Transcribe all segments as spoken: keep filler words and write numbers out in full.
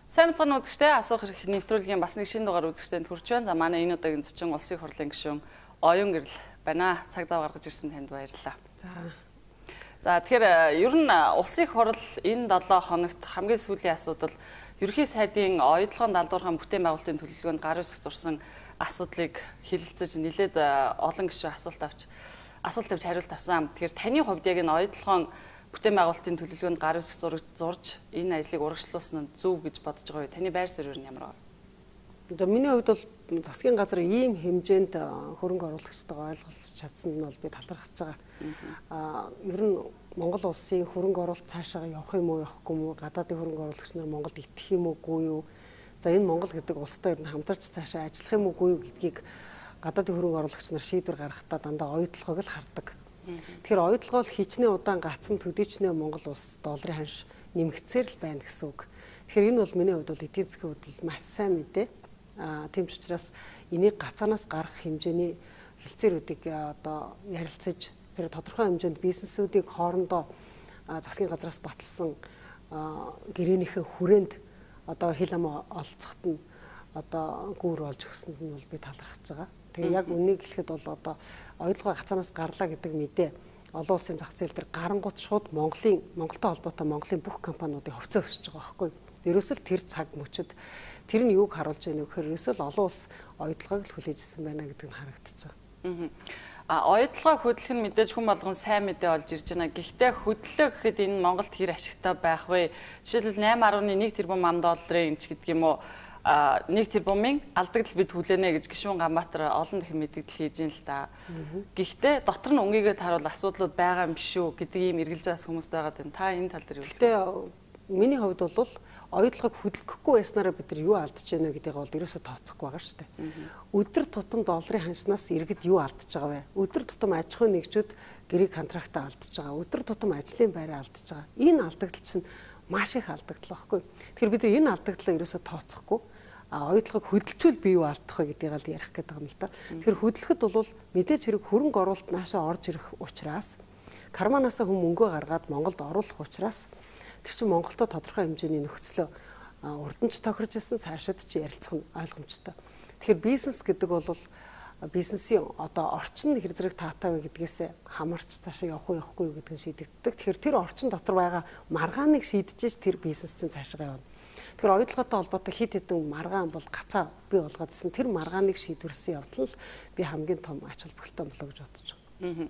Сайн мэцхан үзэгчтэй асуух их нэвтрүүлгийн бас нэг шинэ дугаар үзэгчтэнд хүрч байна. За манай энэ удаагийн зочин улсын хурлын гишүүн Оюун Гэрэл байна. Цаг зав гаргаж ирсэн танд баярлалаа. За. За тэгэхээр ер нь улсын хурл энэ долоо хоногт хамгийн сүүлийн асуудал ерөнхий сайдын оюутлогын далдуурхан бүтээн байгуулалтын төлөвлөгөөнд гар үсэх зурсан асуудлыг хэлэлцэж нэлээд олон гишүүн асуулт авч асуулт тавьж хариулт авсан. Тэгэхээр таны хувьд яг энэ оюутлогын бүтээн байгуулалтын төлөвлөгөөнд гар үсэх зураг зурж энэ ажлыг урагшлуулсан нь зөв гэж бодож байгаа юу? Таны байр суурь нь ямар байна? За миний хувьд бол засгийн газар ийм хэмжээнд хөрөнгө оруулагчтайгаа ойлголцож чадсан нь бол би талархаж байгаа. Аа ер нь Монгол улсын хөрөнгө оруулалт цаашаа явах юм уу явахгүй юм уу? Гадаадын хөрөнгө оруулагч нар Монголд итгэх юм уугүй юу? За энэ Монгол гэдэг улстай ер нь хамтарч цаашаа ажиллах юм уугүй юу гэдгийг гадаадын хөрөнгө оруулагч нар шийдвэр гаргахдаа дандаа оюутлогыг л хардаг. Тэгэхээр оюутлогоо л хичнээн удаан гацсан төдийчнээ Монгол улс долларын ханш нэмэгдсээр л байна гэсэн үг. Тэгэхээр энэ бол миний хувьд бол эдийн засгийн хувьд маш сайн мэдээ. Аа тийм ч учраас энийг гацаанаас гарах хэмжээний хэлцээрүүдийг одоо ярилцаж тэр тодорхой хэмжээнд бизнесүүдийг хоорондоо засгийн газраас баталсан гэрээнийхээ хүрээнд одоо хил ам олцоход нь одоо гүүр олж өгсөнд нь бол би талархаж байгаа. Тэгээ яг үнийг хэлэхэд бол одоо оюутлогоо гацаанаас гарлаа гэдэг мэдээ олон улсын зах зээл дээр гарангуут шууд Монголын Монголтой холбоотой Монголын бүх компаниудыг хөвцөө өсөж байгаа байхгүй. Ерөөсөө тэр цаг мөчид тэр нь юуг харуулж байна вэ гэхээр ерөөсөө олон улс оюутлогыг л хүлээжсэн байна гэдэг нь харагдаж байгаа. А оюутлогоо хөдлөх нь мэдээж хүн болгон сайн мэдээ олж ирж байна. Гэхдээ хөдлөлөө гэхэд энэ Монголд хэр ашигтай байх вэ? Жишээлбэл найман арван нэг тэрбум ам долларын эмч гэдэг юм уу? Нэг тэрбумын алдагдал бид хүлээнэ гэж гишүүн Ганбаатар олон дахин мэдээлэл хийж ин л да. Гэхдээ дотор нь өнгийгээд харуул асуудлууд байгаа юм шүү гэдэг ийм эргэлзээс хүмүүст байгаа юм. Та энэ тал дээр юу хэлэх вэ? Гэхдээ миний хувьд бол оюутлогыг хөдөлгөхгүй байснараа бид нар юу алдаж байна гэдгийг бол ерөөсөө тооцохгүй байгаа шүү дээ. Өдөр тутам долларын ханшнаас иргэд юу алдаж байгаа вэ? Өдөр тутам аж ахуйн нэгжүүд гэрэг контрактаа алдаж байгаа. Өдөр тутам ажлын байраа алдаж байгаа. Энэ алдагдал чинь маш их алдагдал байхгүй. Тэгэхээр бид нар энэ алдагдлаа ерөөсөө тооцохгүй а оюутлогыг хөдөлчүүл бий юу алдах вэ гэдгийг л ярих гэдэг юм л да. Тэгэхээр хөдлөхөд бол мэдээж хэрэг хөрөнгө оруулалт наашаа орж ирэх учраас карманаасаа хүм мөнгөө гаргаад Монголд оруулах учраас тэр чинь Монголтой тодорхой хэмжээний нөхцлөө урдамж тохирж ирсэн цаашид чи ярилцах нь ойлгомжтой. Тэгэхээр бизнес гэдэг бол бизнесийн одоо орчин хэр зэрэг таатай вэ гэдгээс хамаарч цаашаа явах уу явахгүй юу гэдгийг шийдэгддэг. Тэгэхээр тэр орчин дотор байгаа маргааныг шийдэж тэр бизнес чинь цаашаа явна. Тэгэхээр оюутлоготой холбоотой хит хитэн маргаан бол гацаа бий болгоодсэн тэр маргааныг шийдвэрсэн явдал нь би хамгийн том ач холбогдолтой болоо гэж бодож байгаа.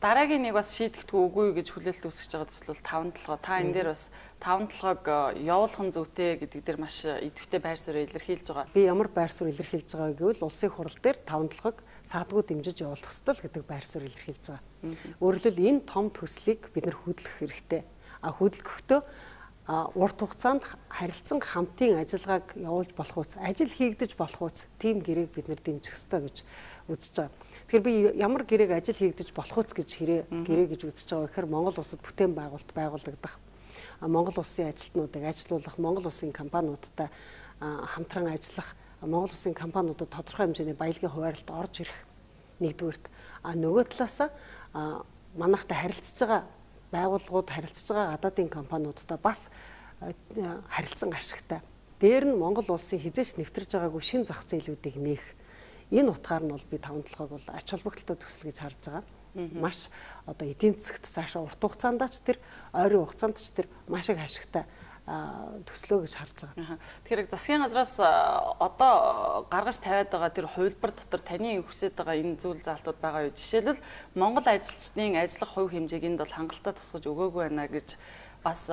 Дараагийн нэг бас шийдэгдэхгүй үгүй гэж хүлээлт үүсгэж байгаа төсөл бол таван толгой. Та энэ дээр бас таван толгойг явуулах нь зүйтэй гэдэг дээр маш идэвхтэй байр суурь илэрхийлж байгаа. Би ямар байр суурь илэрхийлж байгааг гэвэл улсын хурал дээр таван толгойг саадгүй дэмжиж явуулах ёстой л гэдэг байр суурь илэрхийлж байгаа. Өөрөлдөл энэ том төслийг бид нэр хөдлөх хэрэгтэй. А хөдөлгөхдөө урт хугацаанд харилцан хамтын ажиллагааг явуулж болох үс, ажил хийгдэж болох үс, тийм гэрээг бид нэр дэмжих ёстой гэж үзэж байгаа. Тэгэхээр би ямар гэрээг ажил хийгдэж болох үс гэж хэрэг гэрээ гэж үзэж байгаа гэхээр Монгол улсад бүтээн байгуулалт байгуулагдах, Монгол улсын ажилтнуудыг ажилуулах, Монгол улсын компаниудтай хамтран ажиллах, Монгол улсын компаниудад тодорхой хэмжээний баялагын хуваарлалт орж ирэх нэгдүгээрт. А нөгөө талаас манайхтай харилцаж байгаа байгууллагууд харилцаж байгаа гадаадын компаниудтай бас харилцан ашигтай. Дээр нь Монгол улсын хизээч нэвтэрж байгаагүй шин зах зээлүүдийг нээх. Энэ утгаар нь бол би таван толгойг бол ач холбогдолтой төсөл гэж харж байгаа. Маш одоо эдийн засагт цаашаа урт хугацаанд ч тэр ойрын хугацаанд ч тэр маш их ашигтай төслөө гэж харж байгаа. Тэгэхээр засгийн газраас одоо гаргаж тавиад байгаа тэр хувилбар дотор таны хүсэж байгаа энэ зүйл заалтууд байгаа юу? Жишээлбэл Монгол ажилчдын ажиллах хувь хэмжээг энд бол хангалттай тусгаж өгөөгүй байна гэж бас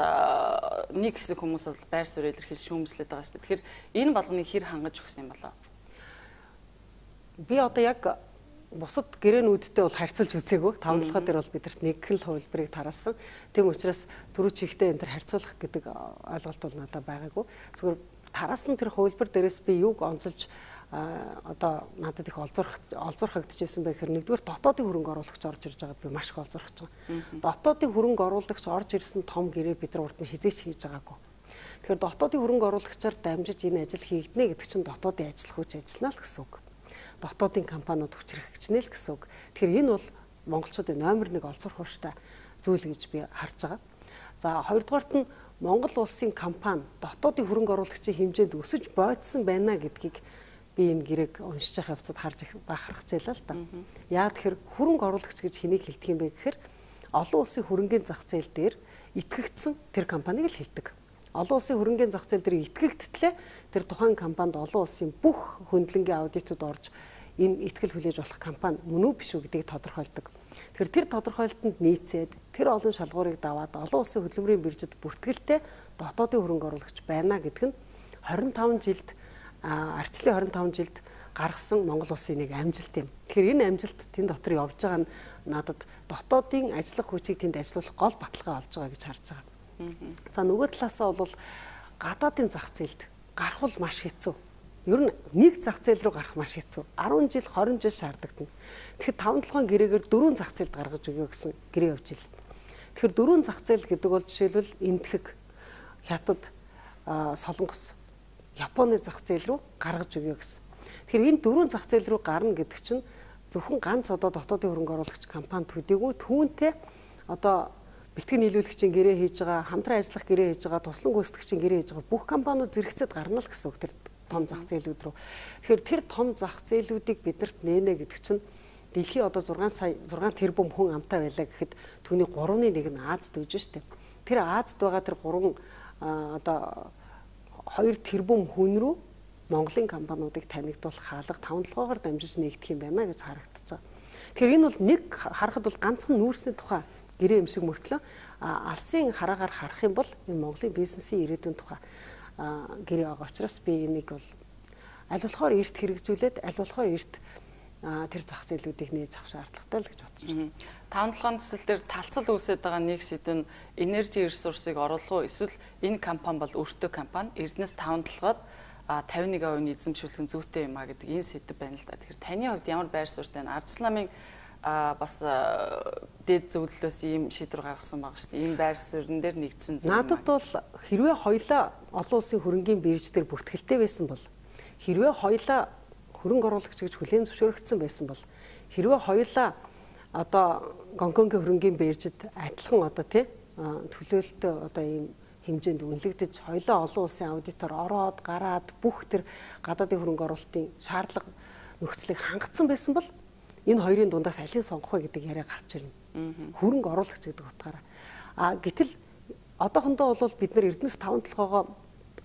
нэг хэсэг хүмүүс бол байр суурь илэрхийлж шүүмжлээд байгаа шүү дээ. Тэгэхээр энэ болгоныг хэр хангаж өгсөн юм болоо? Би одоо яг бусад гэрээнүүдтэй бол харьцуулж үзээгүй. Таван толгой дээр бол бидэрт нэг л хувилбарыг тараасан. Тийм учраас түрүү чихтэй энэ төр харьцуулах гэдэг ойлголт бол надад байгаагүй. Зүгээр тараасан тэр хувилбар дээрээс би юуг онцолж одоо надад их олзуурах олзуурхагдчихсэн байх хэрэг нэгдүгээр дотоодын хөрөнгө оруулагч орж ирж байгаад би маш их олзуурхаж байгаа. Дотоодын хөрөнгө оруулагч орж ирсэн том гэрээ бид нар урд нь хизээч хийж байгаагүй. Тэгэхээр дотоодын хөрөнгө оруулагчаар дамжиж энэ ажил хийгднэ гэдэг чинь дотоодын ажил хүч ажиллана л гэсэн үг. Дотоодын компаниуд хүчрхэгчнэ л гэсэн үг. Тэгэхээр энэ бол монголчуудын номер нэг олзуурах ууштай зүйл гэж би харж байгаа. За хоёрдугаарт нь Монгол улсын компани дотоодын хөрөнгө оруулагчийн хэмжээнд өсөж бойдсон байна гэдгийг би энэ гэрээг уншиж явах явцад харж бахархаж байлаа л да. Яа тэгэхээр хөрөнгө оруулагч гэж хэнийг хэлдэг юм бэ гэхээр олон улсын хөрөнгөний зах зээл дээр итгэгдсэн тэр компанийг л хэлдэг. Олон улсын хөрөнгөний зах зээл дээр итгэгдтлээ тэр тухайн компанид олон улсын бүх хөндлөнгийн аудитууд орж энэ итгэл хүлээж болох компани мөн үү биш үү гэдгийг тодорхойлдог. Тэгэхээр тэр тодорхойлолтод нийцээд тэр олон шалгуурыг даваад олон улсын хөдөлмөрийн биржид бүртгэлтэй дотоодын хөрөнгө оруулагч байна гэдэг нь хорин таван жилд арчлын хорин таван жилд гаргасан Монгол улсын нэг амжилт юм. Тэгэхээр энэ амжилт тэнд дотор явж байгаа нь надад дотоодын ажиллах хүчийг тэнд ажилуулах гол баталгаа болж байгаа гэж харж байгаа. За нөгөө талаасаа бол гадаадын зах зээлд гарах бол маш хэцүү. Ер нь нэг зах зээл рүү гарах маш хэцүү. арван жил, хорин жил шаарддаг. Тэгэхээр таван толгойн гэрээгээр дөрвөн зах зээлд гаргаж өгөө гэсэн гэрээ явж ил. Тэгэхээр дөрвөн зах зээл гэдэг бол жишээлбэл Энэтхэг, Хятад, Солонгос, Японы зах зээл рүү гаргаж өгөө гэсэн. Тэгэхээр энэ дөрвөн зах зээл рүү гарна гэдэг чинь зөвхөн ганц одоо дотоодын хөрөнгө оруулагч компани төдийгүй түүнтэй одоо бэлтгэн нийлүүлэгчийн гэрээ хийж байгаа, хамтран ажиллах гэрээ хийж байгаа, туслан гүйцэтгэгчийн гэрээ хийж байгаа бүх компаниуд зэрэгцээд гарна л гэсэн үг тэр том зах зээлүүд рүү. Тэгэхээр тэр том зах зээлүүдийг бидэрт нээнэ гэдэг чинь дэлхий одоо зургаан сая зургаан тэрбум хүн амтай байлаа гэхэд түүний гуравны нэг нь Азад байж штэ. Тэр Азад байгаа тэр гурван одоо хоёр тэрбум хүн рүү Монголын компаниудыг танигдуулах хаалга таван толгойгоор дамжиж нэгдэх юм байна гэж харагдаж байгаа. Тэгэхээр энэ бол нэг харахад бол ганцхан нүүрсний тухай гэрээ юм шиг мөртлөө алсын хараагаар харах юм бол энэ Монголын бизнесийн ирээдүйн тухай гэрээ байгаа учраас би энийг бол аль болохоор эрт хэрэгжүүлээд аль болохоор эрт тэр зах зээлүүдийг нээж авах шаардлагатай л гэж бодож байна. таван толгойн төсөл дээр талцал үүсэж байгаа нэг сэдв нь энержи ресурсыг оруулах уу эсвэл энэ компани бол өөртөө компани Эрдэнэс таван толгойд тавин нэг хувийн эзэмшүүлэх нь зүйтэй юм а гэдэг энэ сэдв байна л да. Тэгэхээр таны хувьд ямар байр суурьтай вэ? Ардчилсан намын бас дэд зөвлөлөөс ийм шийдвэр гаргасан байгаа шүү дээ. Энэ байр суурин дээр нэгдсэн зүйл. Надад бол хэрвээ хоёлаа олон улсын хөрөнгийн бирж дээр бүртгэлтэй байсан бол хэрвээ хоёлаа хөрөнгө оруулагч гэж хүлээн зөвшөөрөгдсөн байсан бол хэрвээ хоёлаа одоо Гонконгийн хөрөнгийн биржид адилхан одоо тий төлөөлөлтөй одоо ийм хэмжээнд үнэлэгдэж хоёлаа олон улсын аудитор ороод гараад бүх тэр гадаадын хөрөнгө оруулалтын шаардлага нөхцөлийг хангацсан байсан бол энэ хоёрын дундаас алийг сонгох вэ гэдэг яриа гарч ирнэ. Хөрөнгө оруулагч гэдэг утгаараа. А гэтэл одоохондоо бол бид нар Эрдэнэс таван толгойгоо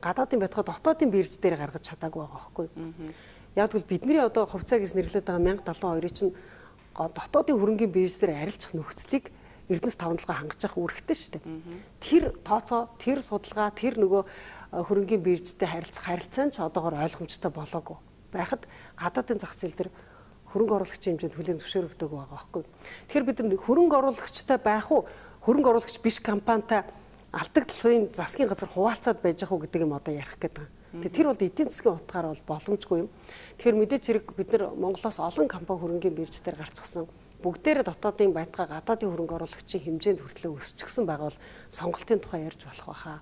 гадаадын байтугай дотоодын бирж дээр гаргаж чадаагүй байгаа байхгүй. Яг тэгвэл бидний одоо хувьцаа гэж нэрлэдэг байгаа мянга далайн хоёрыг чинь дотоодын хөрөнгийн бирж дээр арилжах нөхцөлийг Эрдэнэс таван толгой хангаж явах үүрэгтэй шүү дээ. Тэр тооцоо, тэр судалгаа, тэр нөгөө хөрөнгийн биржтэй харилцах харилцаа ч одоогоор ойлгомжтой болоогүй. Байхад гадаадын зах зээл дээр хөрөнгө оруулагчийн хэмжээнд хүлээн зөвшөөрөгдөг байгаа байхгүй. Тэгэхээр бид нар хөрөнгө оруулагчтай байх уу, хөрөнгө оруулагч биш компанитай алдагдлын засгийн газар хуваалцаад байж ах уу гэдэг юм одоо ярих гэдэг. Тэгэхээр тэр бол эдийн засгийн утгаараа бол боломжгүй юм. Тэгэхээр мэдээч хэрэг бид нар Монголоос олон компани хөрөнгийн бирж дээр гарцсан бүгдээрээ дотоодын байтугай гадаадын хөрөнгө оруулагчийн хэмжээнд хүртлээ өсчихсөн байгаа бол сонголтын тухай ярьж болох байхаа.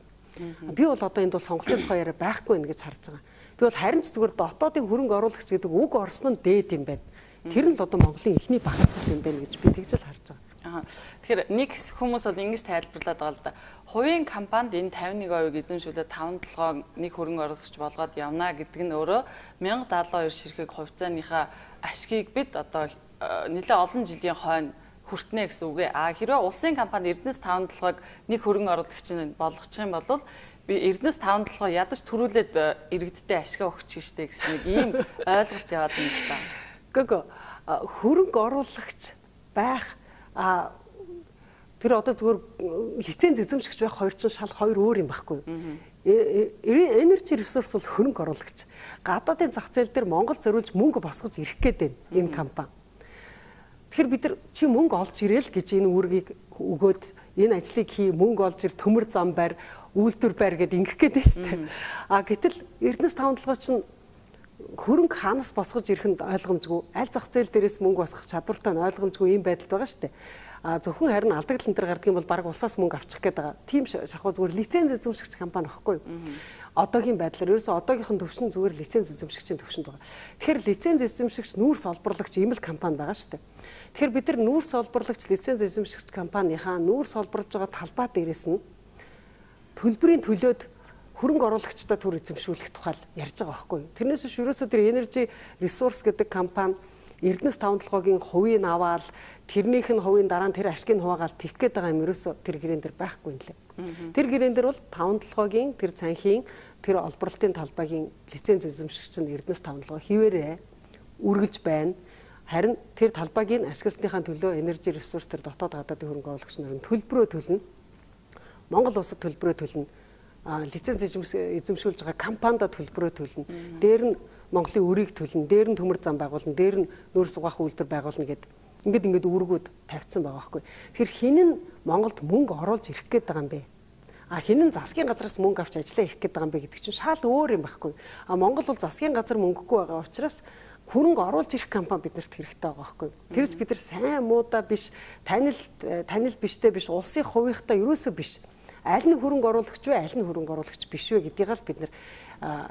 Би бол одоо энд бол сонголтын тухай яриа байхгүй нэ гэж харж байгаа. Би бол харин ч зүгээр дотоодын хөрөнгө оруулагч гэдэг үг орсон нь дээд юм байна. Тэр нь л одоо Монголын эхний багт юм байна гэж би тэгж л харж байгаа. Аа. Тэгэхээр нэг хүмүүс бол ингэж тайлбарлаад байгаа л да. Хувийн компанид энэ тавин нэг хувийг эзэмшүүлээд таван толгой нэг хөрөнгө оруулагч болгоод явна гэдэг нь өөрөө мянга даалгавар хоёр ширхэг хувьцааныхаа ашгийг бид одоо нэлээд олон жилийн хойно хүртнэ гэсэн үг ээ. А хэрвээ улсын компани Эрдэнэс таван толгойг нэг хөрөнгө оруулагчийн болгочих юм бол би Эрдэнэс таван толгой ядаж төрүүлээд иргэдтэй ашгаа өгч штэ гэсэн нэг ийм ойлголт яваад байна л та. Гэгөө хөрөнгө оруулагч байх а тэр одоо зүгээр лиценз эзэмшигч байх хоёр чинь шал хоёр өөр юм байхгүй юу? Энержи ресурс бол хөрөнгө оруулагч. Гадаадын зах зээл дээр Монгол зориулж мөнгө босгож ирэх гээд байна энэ компани. Тэгэхээр бид нар чи мөнгө олж ирээл гэж энэ үүргийг өгөөд энэ ажлыг хий, мөнгө олж ир, төмөр зам байр, үйлдвэр байр гэд ингэх гээд байна шүү дээ. А гэтэл Эрдэнэс таван толгой чинь хөрөнгө хаанаас босгож ирэх нь ойлгомжгүй, аль зах зээл дээрээс мөнгө босгох чадвартай нь ойлгомжгүй юм байдалд байгаа шүү дээ. А зөвхөн харин алдагдал энэ төр гардаг юм бол баг улсаас мөнгө авчих гээд байгаа. Тим шахуу зүгээр лиценз эзэмшигч компани байхгүй юу? Одоогийн байдлаар ерөөсөө одоогийнх нь төвшин зүгээр лиценз эзэмшигчийн төвшөнд байгаа. Тэгэхээр лиценз эзэмшигч нүүрс олборлагч ийм л компани байгаа шүү дээ. Тэгэхээр бид нар нүүрс олборлагч лиценз эзэмшигч компанийнхаа нүүрс олборлож байгаа талбай дээрээс нь төлбөрийн төлөөд хөрөнгө оруулагчдаа түр эзэмшүүлэх тухай ярьж байгаа байхгүй. Тэрнээс биш ерөөсөө тэр Energy Resource гэдэг компани Эрдэнэс таван толгойн хувийг аваад тэрнийх нь хувийн дараа нь тэр ашгийг хуваагаад тэгэх гээд байгаа юм ерөөсөө тэр гэрээн дээр байхгүй юм лээ. Тэр гэрээн дээр бол таван толгойн тэр цанхийн тэр олборлолтын талбайгийн лиценз эзэмшигч нь Эрдэнэс таван толгой хിവэрэ үргэлж байна. Харин тэр талбайгийн ашигласныхаа төлөө Energy Resource тэр дотоод гадаадын хөрөнгө оруулагч нарын төлбөрөө төлнө. Монгол улсад төлбөрөө төлнө. Лиценз эзэмшүүлж байгаа компанид төлбөрөө төлнө. Дээр нь Монголын үрийг төлнө, дээр нь төмөр зам байгуулна, дээр нь нүүр сугаах үйлдвэр байгуулна гэдэг. Ингээд ингээд үүргүүд тавьсан байгаа байхгүй. Тэгэхээр хин нь Монголд мөнгө оруулж ирэх гээд байгаа юм бэ? А хин нь засгийн газраас мөнгө авч ажиллаа ирэх гээд байгаа юм бэ гэдэг чинь шал өөр юм байхгүй. А Монгол бол засгийн газар мөнгөгүй байгаа учраас хөрөнгө оруулж ирэх компани биднэрт хэрэгтэй байгаа байхгүй. Тэрс бид нар сайн муудаа биш, танил танил биштэй биш, улсын хувийнхтай ерөөсөө биш. Аль нь хөрөнгө оруулагч вэ, аль нь хөрөнгө оруулагч биш вэ гэдгийг л бид нар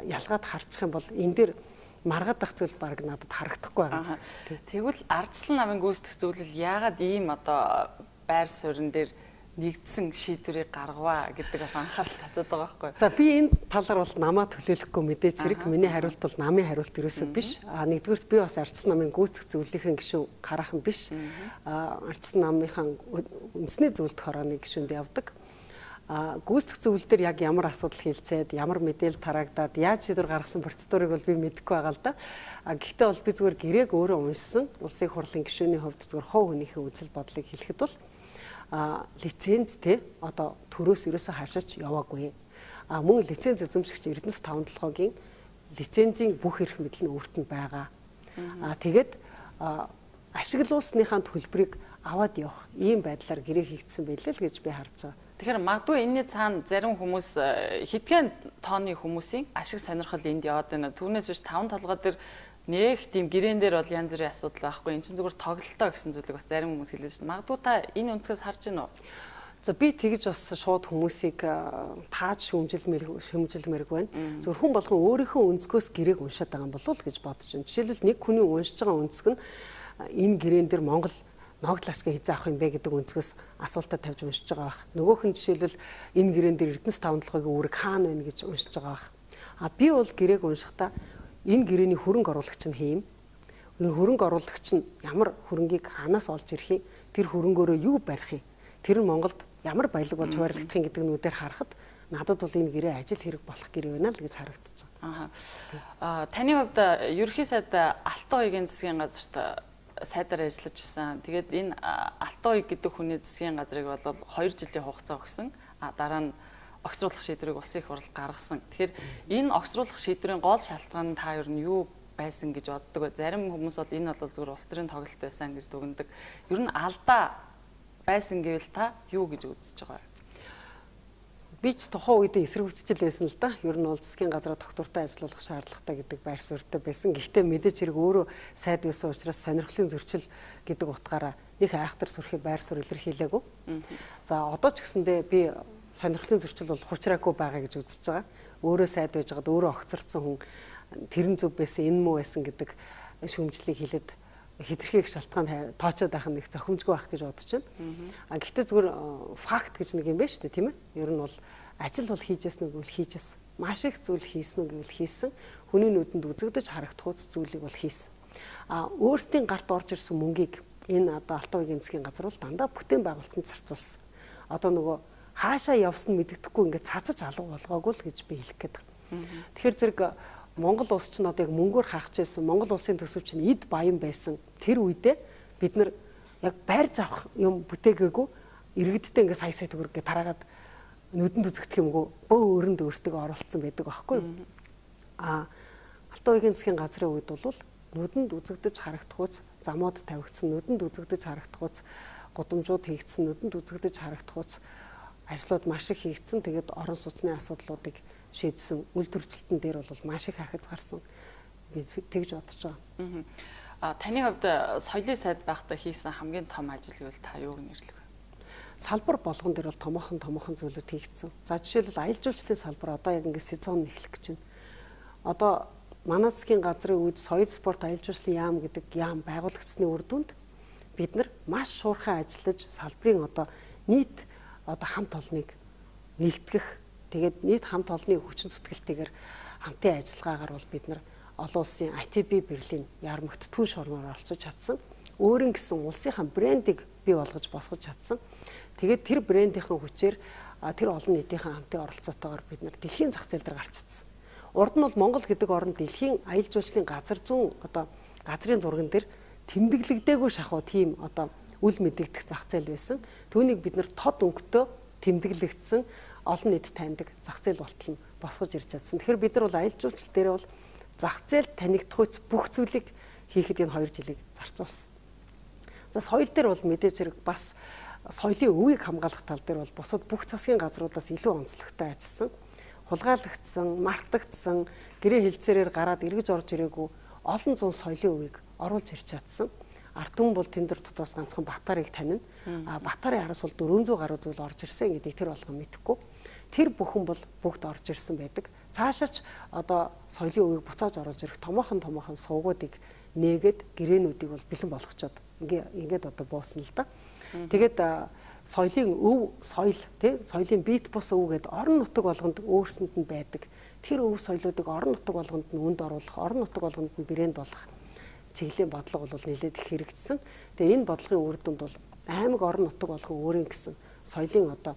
ялгаад харчих юм бол энэ дээр маргадах зүйл баг надад харагдахгүй байна. Тэгвэл Ардчилсан намын гүйцэтгэх зөвлөл яагаад ийм одоо байр суурин дээр нэгдсэн шийдвэрийг гаргаваа гэдэг бас анхаарал татаад байгаа байхгүй. За би энэ талаар бол намаа төлөөлөхгүй мэдээж хэрэг. Миний хариулт бол намын хариулт ерөөсөө биш. А нэгдүгürt би бас Ардчилсан намын гүйцэтгэх зөвлөлийн гишүүн хараахан биш. А Ардчилсан намынхаа үндэсний зөвлөлт хорооны гишүүнд явдаг. А гүйцэтгэх зөвлөл дээр яг ямар асуудал хилцээд, ямар мэдээлэл тараагдаад, яаж шийдвэр гаргасан процедурыг бол би мэдэхгүй байгаа л да. А гэхдээ бол би зүгээр гэрээг өөрөө уншсан. Улсын хурлын гишүүний хувьд зүгээр хов хүнийхээ үзэл бодлыг хэлэхэд бол а лиценз те одоо төрөөс ерөөсө хашаач яваагүй. А мөн лиценз эзэмшигч Эрдэнэс таван толгойн лицензийн бүх эрх мэдэл нь өөрт нь байгаа. А тэгээд ашиглуулсныхаа төлбөрийг аваад явах ийм байдлаар гэрээ хийгдсэн байлээ л гэж би харж байгаа. Тэгэхээр магадгүй энэний цаана зарим хүмүүс хэдхэн тооны хүмүүсийн ашиг сонирхол энд яваад байна. Түүнээс биш таван толгой дээр нэг тийм гэрээн дээр бол янз бүрийн асуудал байхгүй. Энд чинь зүгээр тоглолтоо гэсэн зүйлийг бас зарим хүмүүс хэлж байна. Магадгүй та энэ өнцгөөс харж байна уу? За би тэгж бас шууд хүмүүсийг тааж шүмжилмээр шүмжилмээрг байна. Зөвхөн хүн болгон өөрийнхөө өнцгөөс гэрээг уншаад байгаа юм болов уу гэж бодож байна. Жишээлбэл нэг хүний уншиж байгаа өнцг нь энэ гэрээн дээр Монгол ногдол ашиг хийж авах юм бэ гэдэг өнцгөөс асуултаа тавьж уншиж байгаа бах. Нөгөөх нь жишээлбэл энэ гэрээн дээр Эрдэнэс таван толгойн үүрэг хаана байна гэж уншиж байгаа бах. А би бол гэрээг уншихдаа энэ гэрээний хөрөнгө оруулагч нь хэм. Энэ хөрөнгө оруулагч нь ямар хөрөнгийг хаанаас олж ирэх юм? Тэр хөрөнгөөрөө юу барих юм? Тэр нь Монголд ямар баялаг болж хуваарлагдах юм гэдэг нүдээр харахад надад бол энэ гэрээ ажил хэрэг болох гэрээ байна л гэж харагдаж байгаа. Аа таны хувьд ерөнхий сайд Алтан уягийн засгийн газарт сайдаар ажиллаж исэн. Тэгээд энэ Алтан уяг гэдэг хүний засгийн газрыг бол хоёр жилийн хугацаа өгсөн. А дараа нь огцруулах шийдвэрийг улсын их хурл гаргасан. Тэгэхээр энэ огцруулах шийдвэрийн гол шалтгаан нь та ер нь юу байсан гэж боддог вэ? Зарим хүмүүс бол энэ бол зүгээр улс төрийн тоглолт байсан гэж дүгнэдэг. Ер нь алдаа байсан гэвэл та юу гэж үзэж байгаа вэ? Би ч тухайн үед эсэргүүцэл байсан л да. Ер нь бол засгийн газраа доктортой ажиллах шаардлагатай гэдэг байр суурьтай байсан. Гэхдээ мэдээж хэрэг өөрөө сайд байсан учраас сонирхлын зөрчил гэдэг утгаараа их айхтар сүрхий байр суурь илэрхийлээгүй. За одоо ч гэсэндээ би сонирхлын зөрчил бол хучраагүй байгаа гэж үзэж байгаа. Өөрөө сайд байж байгаад өөрөө огцорцсон хүн тэрэн зөв байсан, энэ муу байсан гэдэг шүүмжлийг хэлээд хэтэрхий их шалтгаан тоочоод байх нэг зохимжгүй байх гэж бодож байна. А гэхдээ зүгээр факт гэж нэг юм байна шүү дээ, тийм ээ. Ер нь бол ажил бол хийжсэн нэг үл хийжсэн. Маш их зүйл хийсэн үг гэвэл хийсэн. Хүний нүдэнд үзэгдэж харагдах үс зүйлийг бол хийсэн. А өөрсдийн гарт орж ирсэн мөнгийг энэ одоо Алтан уягийн засгийн газар бол дандаа бүтээн байгуулалтанд зарцуулсан. Одоо нөгөө хаашаа явсан мэддэхгүй ингээд цацаж алга болгоогүй л гэж би хэлэх гээд байна. Тэгэхээр зэрэг Монгол улс чинь одоо яг мөнгөөр хаахж байсан. Монгол улсын төсөв чинь эд баян байсан. Тэр үедээ бид нар яг байрж авах юм бүтээгээгүй иргэдтэй ингээд сая сая төгрөг гэ тараагаад нүдэнд үзэгдэх юмгүй бөө өрөнд өөртөө оруулсан байдаг байхгүй юу? А Алтан уягийн засгийн газрын үед бол нүдэнд үзэгдэж харагдах үз замууд тавигдсан, нүдэнд үзэгдэж харагдах үз гудамжууд хийгдсэн, нүдэнд үзэгдэж харагдах үз ажлууд маш их хийгдсэн. Тэгээд орон сууцны асуудлуудыг шийдсэн, үйл төрчлөлтөн дээр бол маш их ахиц гарсан. Би тэгж бодож байгаа. Аа таны хувьд соёлын сайд байхдаа хийсэн хамгийн том ажил гэвэл та юуг нэрлэх вэ? Салбар болгон дээр бол томоохон томоохон зүйлүүд хийгдсэн. За жишээлбэл аялал жуулчлалын салбар одоо яг ингэ сезон эхлэх гэж байна. Одоо манай засгийн газрын үед соёл спорт аялал жуулчлалын яам гэдэг яам байгуулагдсны үр дүнд бид нар маш шуурхай ажиллаж салбарын одоо нийт одоо хамт олныг нэгтгэх Тэгээд нийт хамт олонний хүчин зүтгэлтэйгээр хамтын ажиллагаагаар бол бид нар олон улсын ай ти би Берлин яармагт түн шорноор оролцож чадсан. Өөрийн гэсэн улсынхаа брендийг бий болгож босгож чадсан. Тэгээд тэр брендийнхэн хүчээр тэр олон нийтийнхэн хамтын оролцоотойгоор бид нар дэлхийн зах зээл дээр гарч чадсан. Урд нь бол Монгол гэдэг орн дэлхийн аялал жуулчлалын газар зүүн одоо газрын зурган дээр тэмдэглэгдээгүй шахуу тийм одоо үл мэдэгдэх зах зээл байсан. Түүнийг бид нар тод өнгөтэй тэмдэглэгдсэн олон нийт таньдаг зах зээл болтол нь босгож ирж чадсан. Тэгэхээр бид нар бол аялал жуулчлал дээр бол зах зээл танигдах үс бүх зүйлийг хийхэд энэ хоёр жилийг зарцуулсан. За соёл дээр бол мэдээж хэрэг бас соёлын өвийг хамгаалах тал дээр бол бусад бүх засгийн газруудаас илүү онцлогтой ажилласан. Хулгайлагдсан, мартагдсан, гэрээ хэлцээрээр гараад эргэж орж ирээгүй олон зуун соёлын өвийг оруулж ирч чадсан. Ард түмэн бол тэн дээр дотроос ганцхан Батарыг танина. А Батарын араас бол дөрвөн зуун гаруй зүйл орж ирсэн гэдгийг тэр болгон мэдэхгүй. Тэр бүхэн бол бүгд орж ирсэн байдаг. Цаашаач одоо соёлын өвийг буцааж оруулж ирэх томоохон томоохон сувгуудыг нээгээд гэрээнүүдийг бол бэлэн болгочоод ингээ ингээд одоо буусан л да. Тэгээд соёлын өв соёл тий соёлын бит бус өв гэдэг орон нутаг болгонд өөрсөнд нь байдаг. Тэр өв соёлоодыг орон нутаг болгонд нь үнд оруулах, орон нутаг болгонд нь брэнд болох чиглэлийн бодлого бол нэлээд их хэрэгжсэн. Тэгээ энэ бодлогын үр дүнд бол аймаг орон нутаг болгон өөрийн гэсэн соёлын одоо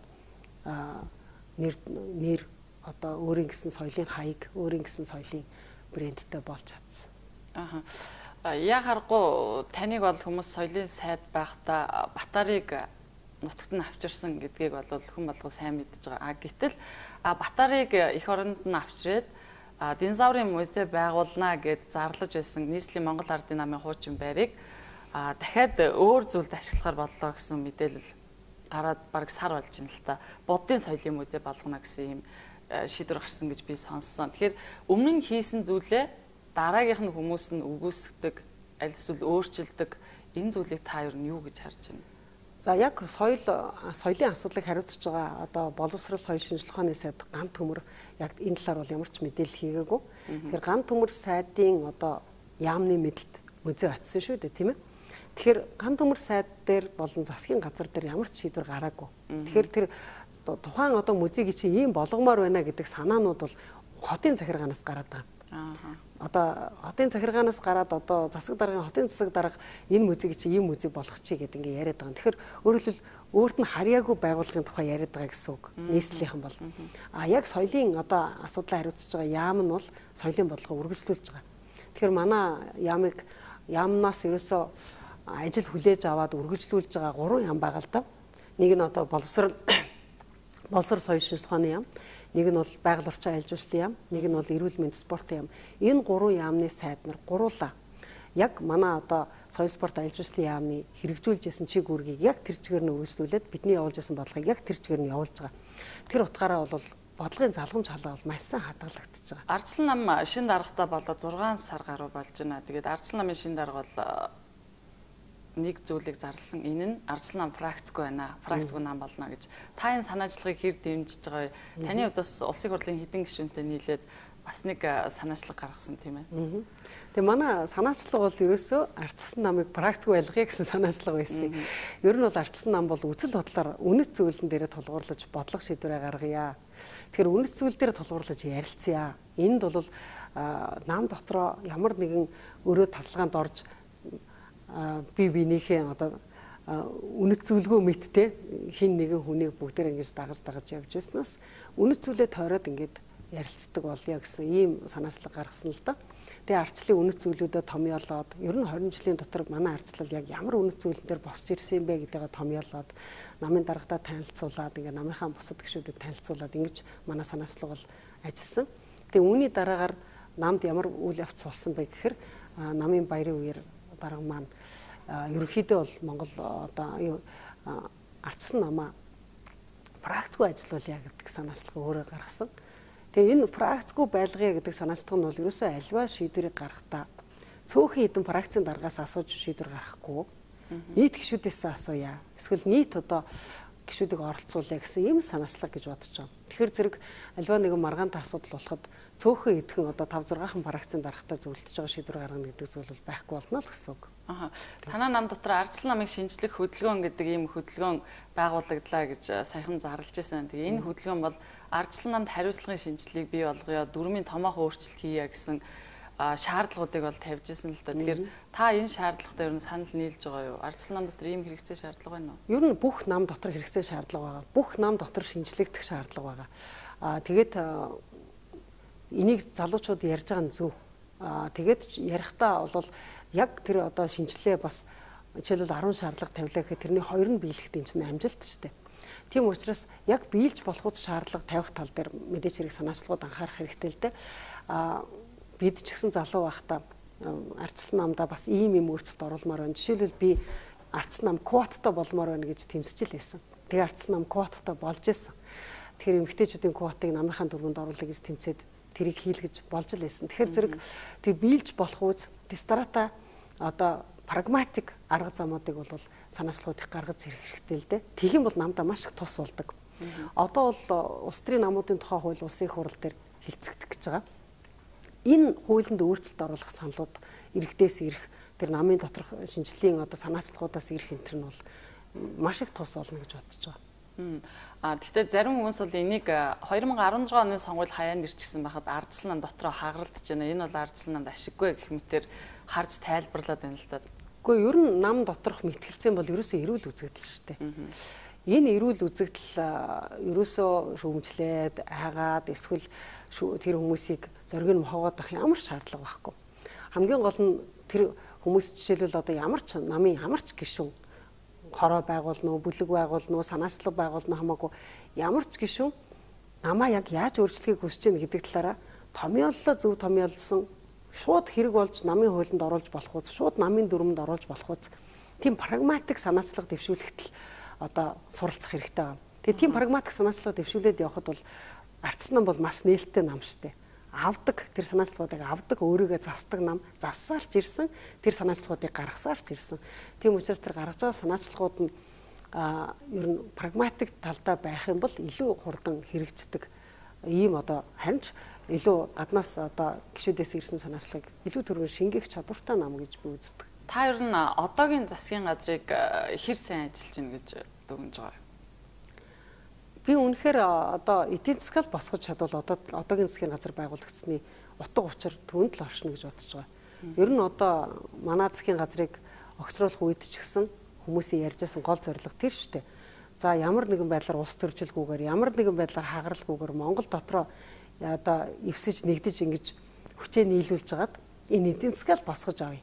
нэр нэр одоо өөрийн гэсэн соёлын хаяг, өөрийн гэсэн соёлын брэндтэй болж чадсан. Аха. Яг харахгүй таныг бол хүмүүс соёлын сайд байхдаа Батарыг нутагт нь авчирсан гэдгийг бол хүн болгон сайн мэдж байгаа. А гэтэл Батарыг эх оронд нь авчирээд динозаврын музей байгуулна гэд зарлаж байсан нийслэлийн Монгол Ардын намын хуучин байрыг дахиад өөр зүйлд ашиглахар боллоо гэсэн мэдээлэл гараад бараг сар болж байна л та. Буддын соёлын музей болгоно гэсэн юм шийдвэр гарсан гэж би сонссон. Тэгэхээр өмнө нь хийсэн зүйлээ дараагийнх нь хүмүүс нь үгүйсгдэг, аль эсвэл өөрчилдөг энэ зүйлийг та ер нь юу гэж харж байна? За яг соёл соёлын асуудлыг хариуцж байгаа одоо боловсрол соёл шинжилгээ ухааны сайд ган төмөр яг энэ талаар бол ямар ч мэдээлэл хийгээгүй. Тэгэхээр ган төмөр сайдын одоо яамны мэдлэлд музей очсон шүү дээ, тийм ээ. Тэгэхээр ган төмөр сайд дээр болон засгийн газар дээр ямар ч шийдвэр гараагүй. Тэгэхээр тэр тухайн одоо музейг чи ийм болгомоор байна гэдэг санаанууд бол хотын захиргаанаас гараад байгаа. Аа. Одоо хотын захиргаанаас гараад одоо засаг даргын хотын засаг дарга энэ музейг чи ийм музей болгох чи гэдэг ингээ яриад байгаа. Тэгэхээр өөрөөр хэлбэл өөрт нь харьяагүй байгууллагын тухай яриад байгаа гэсэн үг. Нийслэлийнхэн бол. А яг соёлын одоо асуудлаа хариуцж байгаа яам нь бол соёлын бодлогоо үргэлжлүүлж байгаа. Тэгэхээр манай яамыг яамнаас ерөөсөө ажил хүлээж аваад үргэлжлүүлж байгаа гурван яам байгаа л да. Нэг нь одоо боловсрол боловсрол соёл шинжилгээ ухааны яам. Нэг нь бол байгаль орчин аялал жуулчлалын яам, нэг нь бол эрүүл мэнд спортын яам. Энэ гурван яамны сайд нар гуруула яг манай одоо соёл спорт аялал жуулчлалын яамны хэрэгжүүлж исэн чиг үүргийг яг тэр чигээр нь үргэлжлүүлээд бидний явуулж исэн бодлогыг яг тэр чигээр нь явуулж байгаа. Тэр утгаараа бол бодлогын залгамж халаа бол маш сайн хадгалагдчихж байгаа. Ардчилсан нам шин даргатай болоод зургаан сар гаруй болж байна. Тэгээд ардчилсан намын шин дарга бол нэг зүйлийг зарласан. Энэ нь ардчилсан нам практикгүй байна. Практикгүй нам болно гэж. Та энэ санаачлагыг хэр дэмжиж байгаа вэ? Таны удаас улсын хурлын хэдэн гишүүнтэй нийлээд бас нэг санаачлаг гаргасан тийм ээ. Тэгээ манай санаачлага бол ерөөсөө ардчилсан намыг практикгүй байлгая гэсэн санаачлага байсан. Ер нь бол ардчилсан нам бол үзэл бодлоор үнэт зүйлэн дээрээ тулгуурлаж бодлого шийдвэрээ гаргая. Тэгэхээр үнэт зүйл дээр тулгуурлаж ярилцъя. Энд бол нам дотроо ямар нэгэн өрөө тасалгаанд орж би бинийхээ одоо үнэт зүйлгүй мэдтэй хин нэгэн хүнийг бүгдээр ингэж дагаж дагаж явж байснаас үнэт зүйлээ тойроод ингэж ярилцдаг болъё гэсэн ийм санаачлага гаргасан л да. Тэгээ ардчлалын үнэт зүйлүүдэд томьёолоод ер нь хорин жилийн дотор манай ардчлал яг ямар үнэт зүйлэн дээр босч ирсэн юм бэ гэдгээ томьёолоод намын даргадаа танилцуулаад ингээ намынхаа бусад гишүүдэд танилцуулаад ингэж манай санаачлага бол ажилласан. Тэгээ үүний дараагаар намд ямар үйл явц болсон бэ гэхээр намын баярын үеэр дарга маань ерөнхийдөө бол Монгол одоо ардчилсан намаа практикгүй ажиллуулъя гэдэг санаачлага өөрөө гаргасан. Тэгээ энэ практикгүй байлгая гэдэг санаачлага нь бол ерөөсөө альва шийдвэрийг гаргахдаа цөөхөн хэдэн практикийн даргаас асууж шийдвэр гаргахгүй нийт гишүүдээс асууя. Эсвэл нийт одоо гишүүдийг оролцуулъя гэсэн ийм санаачлага гэж бодож байгаа. Тэгэхээр зэрэг альва нэгэн маргаантай асуудал болоход цөөхөн идэхэн одоо тавь зургаахан практикийн даргатай зөвлөдөж байгаа шийдвэр гаргана гэдэг зүйл бол байхгүй болно л гэсэн үг. Аха. Танай нам дотор ардчилсан намыг шинжлэх хөдөлгөөн гэдэг ийм хөдөлгөөн байгуулагдлаа гэж саяхан зарлж байсан. Тэгээ энэ хөдөлгөөн бол ардчилсан намд хариуцлагын шинжилгээг бий болгоё, дүрмийн томоохон өөрчлөлт хийе гэсэн шаардлагуудыг бол тавьж ирсэн л да. Тэгэхээр та энэ шаардлагатай ер нь санал нийлж байгаа юу? Ардчилсан нам дотор ийм хэрэгцээ шаардлага байна уу? Ер нь бүх нам дотор хэрэгцээ шаардлага байгаа. Бүх нам дотор шинжлэгдэх шаардлага байгаа. Аа тэгээд энийг залуучууд ярьж байгаа нь зөв. Аа тэгээд ярихдаа бол яг тэр одоо шинжилгээ бас жишээлбэл арван шаардлага тавилаа гэхэд тэрний хоёр нь биелэхэд энэ чинь амжилт шүү дээ. Тийм учраас яг биелж болох үс шаардлага тавих тал дээр мэдээч хэрэг санаачлагууд анхаарах хэрэгтэй л дээ. Аа бид ч гэсэн залуу байхдаа ардчилсан намдаа бас ийм юм өөрчлөлт оруулмаар байна. Жишээлбэл би ардчилсан нам квоттой болмоор байна гэж тэмцэж л байсан. Тэгээ ардчилсан нам квоттой болж исэн. Тэгэхээр эмэгтэйчүүдийн квотыг намынхаа дүрмэнд оруулах гэж тэмцээд тэрийг хийлгэж болж л байсан. Тэгэхээр зэрэг тэг биелж болох үз дистрата одоо прагматик арга замуудыг бол санаачлагуудыг гаргаж ирэх хэрэгтэй л дээ. Тэгхийн бол намдаа маш их тус болдог. Одоо бол улс төрийн намуудын тухай хууль улсын их хурал дээр хилцэгдэх гэж байгаа. Энэ хуулинд өөрчлөлт оруулах саналууд иргэдээс ирэх тэр намын доторх шинжилгээний одоо санаачлагуудаас ирэх энэ нь бол маш их тус болно гэж бодож байгаа. А гэхдээ зарим хүмүүс бол энийг хоёр мың арван зургаан оны сонгуульд хаяанд ирчихсэн байхад ардчилсан нам дотроо хагаралдаж байна. Энэ бол ардчилсан намд ашиггүй гэх мэтээр харж тайлбарлаад байна л да. Гэхдээ ер нь нам доторх мэтгэлцэн бол ерөөсөө эрүүл үзэгдэл шүү дээ. Энэ эрүүл үзэгдэл ерөөсөө шүүмжлээд айгаад эсвэл тэр хүмүүсийг зориг нь мохоогоод авах ямар шаардлага байхгүй. Хамгийн гол нь тэр хүмүүс жишээлбэл одоо ямар ч намын ямар ч гишүүн хороо байгуулна уу, бүлэг байгуулна уу, санаачлаг байгуулна хамаагүй ямар ч гишүүн намаа яг яаж өөрчлөхийг хүсэж байна гэдэг талаараа томьёоллоо зөв томьёолсон шууд хэрэг болж намын хуулинд оруулж болох үз, шууд намын дүрмэнд оруулж болох үз. Тийм прагматик санаачлаг дэвшүүлэхэд л одоо суралцах хэрэгтэй байна. Тэгээ тийм прагматик санаачлага дэвшүүлээд явхад бол ардчилсан нам бол маш нээлттэй нам штэ. Авдаг тэр санаачлагуудыг авдаг, өөрийгөө засдаг нам, зассаарч ирсэн, тэр санаачлагуудыг гаргасаарч ирсэн. Тийм учраас тэр гаргаж байгаа санаачлагууд нь а ер нь прагматик талдаа байх юм бол илүү хурдан хэрэгждэг. Ийм одоо харин ч илүү гаднаас одоо гишүүдээс ирсэн санаачлагыг илүү түргэн шингээх чадвартай нам гэж би үздэг. Та ер нь одоогийн засгийн газрыг хэр сайн ажиллаж байна гэж дүгнэж байгаа юм? Би үнэхээр одоо эдийн засаг босгож чадвал одоо одоогийн засгийн газар байгуулагдсны утга учир түүнд л оршно гэж бодож байгаа. Ер нь одоо манай засгийн газрыг огцруулах үед ч гэсэн хүмүүсийн ярьжсэн гол зорилго тэр шүү дээ. За ямар нэгэн байдлаар улс төржилгүйгээр ямар нэгэн байдлаар хагаралгүйгээр Монгол дотроо одоо эвсэж нэгдэж ингэж хүчээ нийлүүлж хагаад энэ эдийн засаг босгож авъя.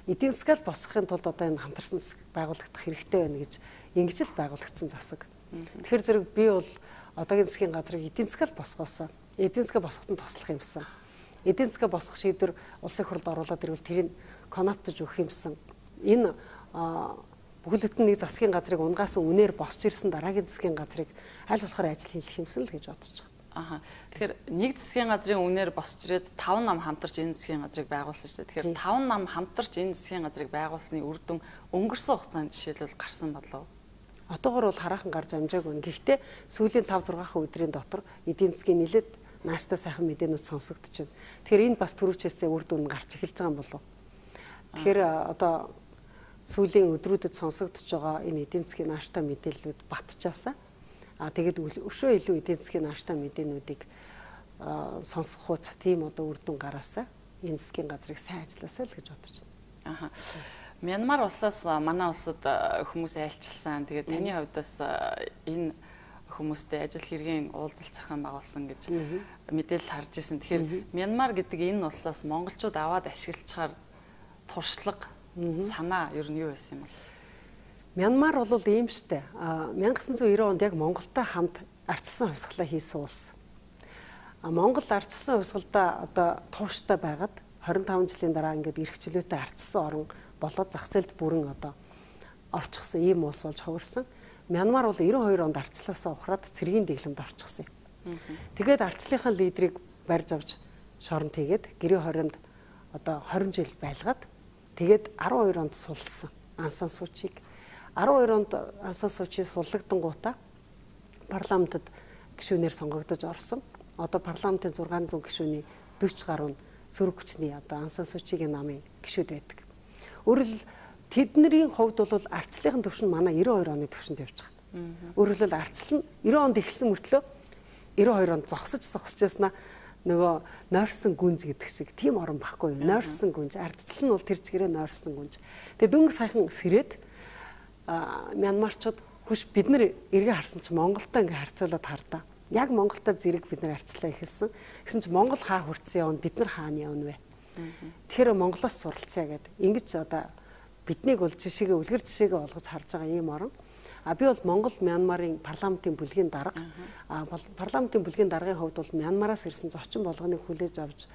Эдийн засаг босгохын тулд одоо энэ хамтарсан засаг байгуулагдах хэрэгтэй байна гэж ингэж л байгуулагдсан засаг. Тэгэхээр зэрэг би бол одоогийн засгийн газрыг эдийн засаг босгоосоо эдийн засаг босгоход туслах юмсан. Эдийн засаг босгох шийдвэр улсын хурлд оруулаад ирвэл тэрийг коноптож өгөх юмсан. Энэ бүхэл бүтэн нэг засгийн газрыг унгаас үнээр босч ирсэн дараагийн засгийн газрыг аль болохоор ажил хийх юмсан л гэж бодож байгаа. Аха. Тэгэхээр нэг засгийн газрын үнээр босч ирээд таван нам хамтарч энэ засгийн газрыг байгуулсан шүү дээ. Тэгэхээр таван нам хамтарч энэ засгийн газрыг байгуулсны үр дүн өнгөрсөн хугацаанд жишээлбэл гарсан болов. Одоогор бол хараахан гарч амжаагүй. Гэхдээ сүүлийн таван зургаан өдрийн дотор эдийн засгийн нэлээд нааштай сайхан мэдээнүүд сонсогдож байна. Тэгэхээр энэ бас түрүүчээсээ үр дүн гарч эхэлж байгаа юм болов. Тэгэхээр одоо сүүлийн өдрүүдэд сонсогдож байгаа энэ эдийн засгийн нааштай мэдээллүүд батчаасаа а тэгээд өшөө илүү эдийн засгийн нааштай мэдээнүүдийг сонсох хуц тийм одоо үр дүн гараасаа энэ засгийн газрыг сайн ажилласаа л гэж бодож байна. Аха. Мянмар улсаас манай улсад хүмүүс айлчилсан. Тэгээд таны хувьдаас энэ хүмүүстэй ажил хэргийн уулзалт зохион байгуулсан гэж мэдээлэл харж ирсэн. Тэгэхээр Мянмар гэдэг энэ улсаас монголчууд аваад ашиглацгаар туршлага санаа ер нь юу байсан юм бэ? Мянмар бол ийм штэ. 천구၉九онд яг Монголтой хамт ардчилсан хувьсгалаа хийсэн улс. Монгол ардчилсан хувьсгалдаа одоо тууштай байгаад двадцать таван жилийн дараа ингээд эрх чөлөөтэй ардчилсан орн болоод зах зээлд бүрэн одоо орчихсон ийм улс болж хувирсан. Мянмар бол девяносто хоёр онд ардчлаасаа ухраад цэргийн дэглэмд орчихсон юм. Тэгээд ардчлалынхаа лидерийг барьж авч шоронд хийгээд гэрээ хорионд одоо двадцать жил байлгаад тэгээд десять хоёр онд сулсан Аун Сан Сүү Чиг. десять хоёр онд Аун Сан Сүү Чи суллагдангуудаа парламентод гишүүнээр сонгогдож орсон. Одоо парламентын зургаан зуун гишүүний дөрвөн гаруй сөрөг хүчний одоо Аун Сан Сүү Чигийн намын гишүүд байдаг. Өөрөөр хэл тэдний хувьд бол ардчлалын түвшин манай ninety two оны түвшинд явж байгаа. Өөрөөр хэл ардчлал нь ninety онд эхэлсэн мөртлөө ninety two онд зогсож зогсож яснаа нөгөө нойрсон гүнж гэдэг шиг тийм орон баггүй. Нойрсон гүнж, ардчлал нь бол тэр чигээрээ нойрсон гүнж. Тэгээ дөнгөж сайхан сэрээд Мянмарчууд хүш бид нар эргээ харсан чи Монголтой ингээ харьцуулаад хардаа. Яг Монголтой зэрэг бид нар арчлаа ихэлсэн. Гэсэн чи Монгол хаа хүрцэн явна, бид нар хаана явна вэ? Тэгэхээр Монголоос суралцъя гэдэг. Ингэж одоо биднийг бол жишээгээ үлгэр жишээгээ олгож харж байгаа ийм орон. А би бол Монгол Мянмарын парламентын бүлгийн дарга. А парламентын бүлгийн даргын хувьд бол Мянмараас ирсэн зочин болгоныг хүлээж авч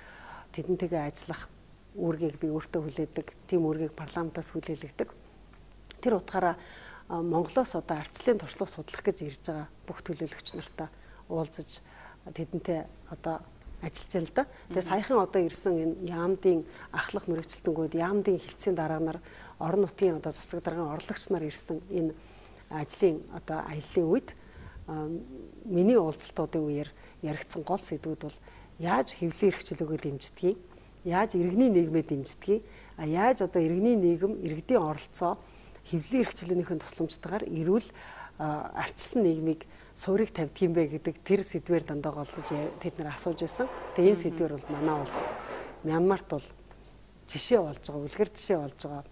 тэдэнтэйгээ ажиллах үүргийг би өөртөө хүлээдэг. Тийм үүргийг парламентаас хүлээлгдэг. Тэр утгаараа Монголоос одоо ардчлалын туршлага судлах гэж ирж байгаа бүх төлөөлөгч нартай уулзаж тэдэнтэй одоо ажиллаж байна л да. Тэгээ саяхан одоо ирсэн энэ яамдын ахлах мэрэгчлэлтэнгүүд яамдын хилцээний дарга нар орон нутгийн одоо засаг даргын орлогч нар ирсэн энэ ажлын одоо аяллаа үед миний уулзалтуудын үеэр яригдсан гол сэдвүүд бол яаж хэвлэлийн эрхчлөлөөгөө дэмждгийг, яаж иргэний нийгмээ дэмждгийг, а яаж одоо иргэний нийгэм иргэдийн оролцоо хэвлэлийн эрхчлөлийнхээ тусламжтайгаар эрүүл ардчилсан нийгмийг суурийг тавьдаг юм бэ гэдэг тэр сэдвээр дандаа голдож тэд нар асууж байсан. Тэгээ энэ сэдвэр бол манай улс Мянмарт бол жишээ болж байгаа, үлгэр жишээ болж байгаа.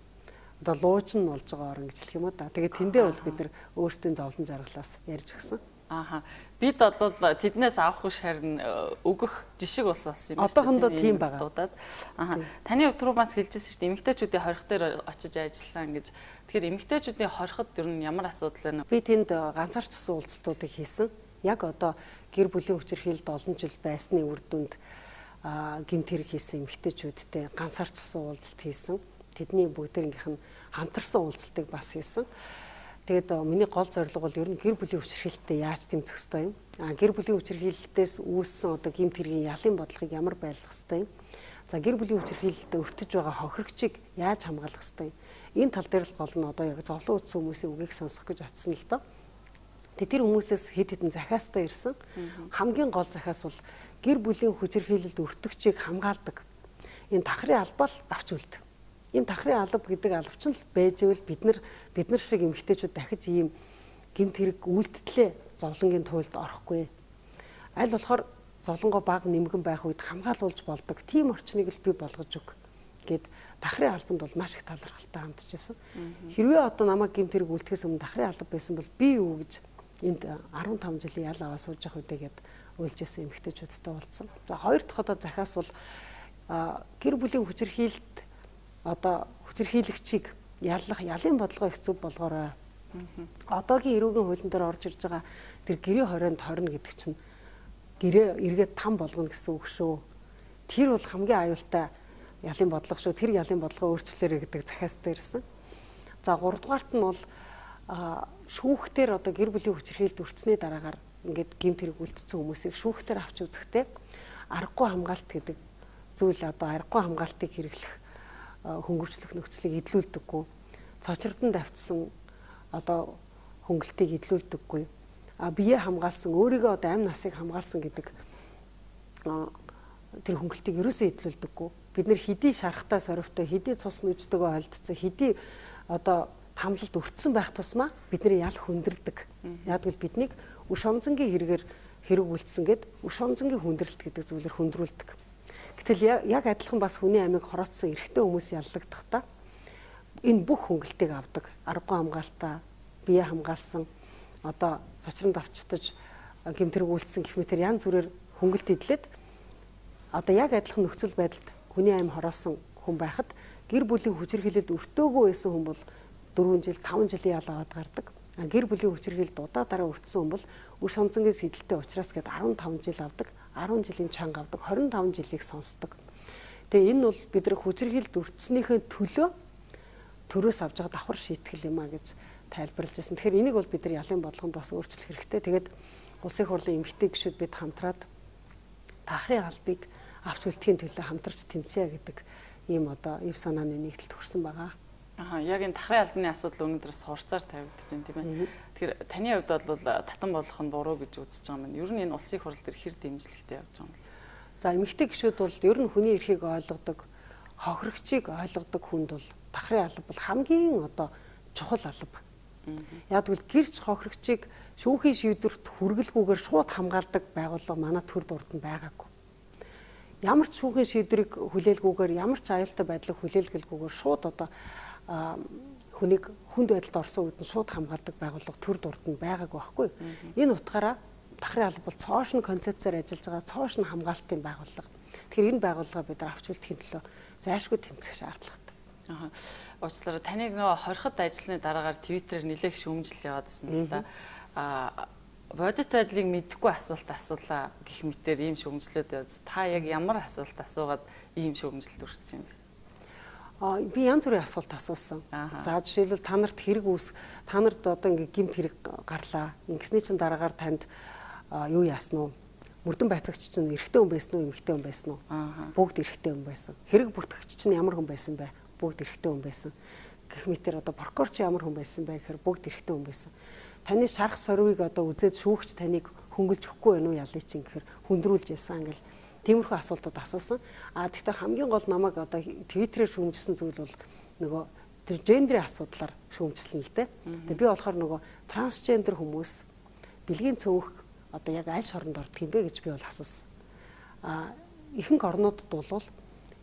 Одоо луучин болж байгаа орн гэж хэлэх юм уу да. Тэгээ тэндээ бол бид нар өөрсдийн зовлон жаргалаас ярьж өгсөн. Ааха. Бид бол тэднээс авах биш харин өгөх жишг ус бас юм. Одоохондоо тийм байгаа. Ааха. Таны өдрөө бас хэлжсэн шүү дээ. Эмэгтэйчүүдийн хорих дээр очиж ажилласан гэж. Тэгэхээр эмэгтэйчүүдийн хориход ер нь ямар асуудал вэ? Би тэнд ганцаарчсан уулзалтуудыг хийсэн. Яг одоо гэр бүлийн хүчирхийлэлд олон жил байсны үр дүнд гэмт хэрэг хийсэн эмэгтэйчүүдтэй ганцаарчсан уулзалт хийсэн. Тэдний бүгдээрийнх нь хамтарсан уулзалтыг бас хийсэн. Тэгээд миний гол зорилго бол ер нь гэр бүлийн хүчирхийлэлтэд яаж тэмцэх ёстой юм? А гэр бүлийн хүчирхийлэлтээс үүссэн одоо гэмт хэргийн ялын бодлогыг ямар байлгах ёстой юм? За гэр бүлийн хүчирхийлэлтэд өртөж байгаа хохирогчийг яаж хамгаалах ёстой юм? Энэ тал дээр л гол нь одоо яг зовлон утсан хүмүүсийн үгийг сонсох гэж очсон л доо. Тэгээд тэр хүмүүсээс хэд хэдэн захиастай ирсэн. Хамгийн гол захиас бол гэр бүлийн хүчирхийлэлд өртөгчийг хамгаалдаг. Энэ тахрын албаа л авч үлд. Энэ тахрын алба гэдэг албач нь л байж ивэл бид нар бид нар шиг эмэгтэйчүүд дахиж ийм гэмт хэрэг үйлдэлээ зовлонгийн туйлд орохгүй. Аль болохоор зовлонгоо бага нэмгэн байх үед хамгаалуулж болдог тийм орчныг л би болгож өг гэд тахрын албанд бол маш их талархалтай хандж байсан. Хэрвээ одоо намайг гэмт хэрэг үйлдэхээс өмнө тахрын алба байсан бол би юу гэж энд арван таван жилийн ял аваа сууж явах үедээ гэд уйлж исэн эмэгтэйчүүдтэй уулзсан. За хоёр дахь одоо захиас бол гэр бүлийн хүчирхийлэлд одоо хүчирхийлэгчийг яллах ялын бодлого их зөв болгоорой. Одоогийн эрүүгийн хуулийн дээр орж ирж байгаа тэр гэрээ хорионд хорно гэдэг чинь гэрээ эргээд там болгоно гэсэн үг шүү. Тэр бол хамгийн аюултай ялын бодлого шүү. Тэр ялын бодлогоо өөрчлөлөөрэй гэдэг захиастай ирсэн. За гурав дугаарт нь бол шүүхтэр одоо гэр бүлийн хүчирхийлэлд өртсөний дараагаар ингээд гэмт хэрэг үлдсэн хүмүүсийг шүүхтэр авч үзэхдээ аргагүй хамгаалт гэдэг зүйл одоо аргагүй хамгаалтыг хэрэглэх хөнгөвчлөх нөхцөлийг эдлүүлдэггүй. Цочродон давтсан одоо хөнгөлтийг эдлүүлдэггүй. А бие хамгаалсан өөрийгөө одоо амь насыг хамгаалсан гэдэг тэр хөнгөлтийг ерөөсөө эдлүүлдэггүй. Бид нэр хэдий шарахтай соривтой, хэдий цус нүжтэйгөө холдсон, хэдий одоо тамлалд өртсөн байх тусмаа бидний ял хүндэрдэг. Яг л биднийг өш онцонгийн хэрэгээр хэрэг үлдсэн гэд өш онцонгийн хүндрэлт гэдэг зүйлээр хүндрүүлдэг. Гэтэл яг адилхан бас хүний амийг хороцсон эрэгтэй хүмүүс яллагдахдаа энэ бүх хөнгөлтийг авдаг. Аргагүй хамгаалтаа, бие хамгаалсан, одоо цочронд авчтаж гэмт хэрэг үлдсэн гэх мэтэр янз бүрээр хөнгөлт идлээд одоо яг адилхан нөхцөл байдалд хүний амь хороосон хүн байхад гэр бүлийн хүчирхийлэлд өртөөгүй байсан хүн бол дөрвөн жил, таван жилийн ял аваад гардаг. А гэр бүлийн хүчирхийлэлд удаа дараа өртсөн хүн бол үр шонцонгийн сэдэлтэй учраас гээд арван таван жил авдаг, арван жилийн чанга авдаг, хорин таван жилийг сонсдог. Тэгээ энэ бол бидний хүчирхийлэлд өртснийхээ төлөө төрөөс авж байгаа давхар шийтгэл юм а гэж тайлбарлаж байсан. Тэгэхээр энийг бол бид нар ялын бодлогонд бас өөрчлөх хэрэгтэй. Тэгээд улсын хурлын эмэгтэй гишүүд бид хамтраад тахрын албыг авч үлдэхийн төлөө хамтарч тэмцэе гэдэг ийм одоо эв санааны нэгдэлд хүрсэн байгаа. Аа яг энэ тахрын албаны асуудал өнөөдрөөс хурцаар тавигдаж байна тийм ээ. Тэгэхээр таны хувьд бол татан болох нь буруу гэж үзэж байгаа юм. Ер нь энэ улсын хурал дээр хэр дэмжлэгтэй явж байгаа юм. За эмэгтэй гишүүд бол ер нь хүний эрхийг ойлгодог, хохирогчийг ойлгодог хүнд бол давхрын алба бол хамгийн одоо чухал алба. Яг тэгвэл гэрч хохирогчийг шүүхийн шийдвэрт хүргэлгүйгээр шууд хамгаалдаг байгууллага манай төр дурд нь байгаагүй. Ямар ч шүүхийн шийдвэрийг хүлээлгүйгээр, ямар ч аюултай байдлыг хүлээлгэлгүйгээр шууд одоо хүнийг хүнд байдалд орсон үед нь шууд хамгаалдаг байгууллага төр дурд нь байгаагүй байхгүй. Энэ утгаараа давхрын алба бол цоошин концепцээр ажиллаж байгаа цоошин хамгаалтын байгууллага. Тэгэхээр энэ байгууллага бид нар авч үлдэхийн төлөө зайлшгүй тэмцэх шаардлагатай. Аа. Уучлаарай, таныг нөгөө хорхот ажилласны дараагаар Твиттерээр нэлээд шүүмжил яваадсан л да. Аа бодит байдлыг мэдэхгүй асуулт асуулаа гэх мэтээр ийм шүүмжлүүд яваас та яг ямар асуулт асуугаад ийм шүүмжлэлд хүрсэн юм бэ? Аа би янз бүрийн асуулт асуусан. За жишээлбэл та нарт хэрэг үүс, та нарт одоо ингээ гэмт хэрэг гарлаа. Ингэсний чинь дараагаар танд юу яасан уу? Мөрдөн байцаагч чинь эрэгтэй хүн байсан уу, эмэгтэй хүн байсан уу? Бүгд эрэгтэй хүн байсан. Хэрэг бүртгэгч чинь ямар хүн байсан бэ? Бүгд эрэгтэй хүн байсан. Гэх мэтэр одоо прокурор чи ямар хүн байсан бэ гэхээр бүгд эрэгтэй хүн байсан. Таны шарх сорвыг одоо үзээд шүүгч таныг хөнгөлж өгөхгүй байна уу ялыг чинь гэхээр хүндрүүлж яасан ингээл тиймэрхүү асуултууд асуусан. А тэгвэл хамгийн гол намайг одоо Твиттерээр шүүмжилсэн зүйл бол нөгөө тэр гендрийн асуудлаар шүүмжилсэн л дээ. Тэгээ би болохоор нөгөө трансгендер хүмүүс бэлгийн цөөх одоо яг аль шоронд ордог юм бэ гэж би бол асуусан. А ихэнх орнуудад бол